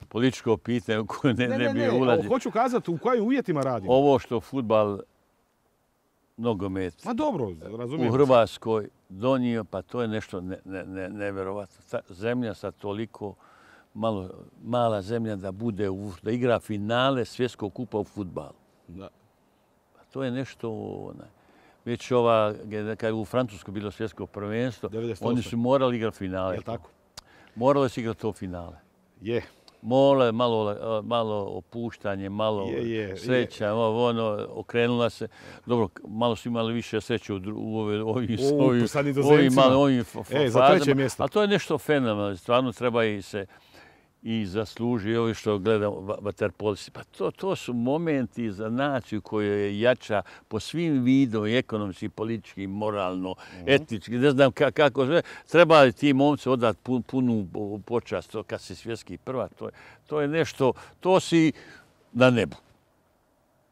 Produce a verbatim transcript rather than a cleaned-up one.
političko pitanje u koje ne, Ne, ne, ne, bi ne, ulazio. hoću kazati u kojim uvjetima radimo. Ovo što fudbal, nogomet Ma dobro, razumijem. u Hrvatskoj donio, pa to je nešto ne, ne, ne, nevjerovatno. Ta zemlja sa toliko malo, mala zemlja da bude u, da igra finale svjetskog kupa u fudbalu. Da. Pa to je nešto onaj. Već ova, kad je u Francuskoj bilo svjetsko prvenstvo, devedeset osam. oni su morali igrati finale. Jel' tako? Morali su igrati to finale. Je. Mole, malo, malo opuštanje, malo Je, je, sreća, je. ono, okrenula se. Dobro, malo su imali više sreće u, dru- u ove, ovim, U, ovim, sa ovim, Nizozemcima. malo- ovim fa- fa- E, za fazama. treće mjesto. A to je nešto fenomenalno. Stvarno treba i se i zasluži ovi što gledamo vaterpolisti. Pa to, to su momenti za naciju koja je jača po svim vidom, ekonomski, politički, moralno, etički, ne znam ka- kako sve. Treba ti momci odati pun, punu počast to kad si svjetski prvak. To je, to je nešto, to si na nebu.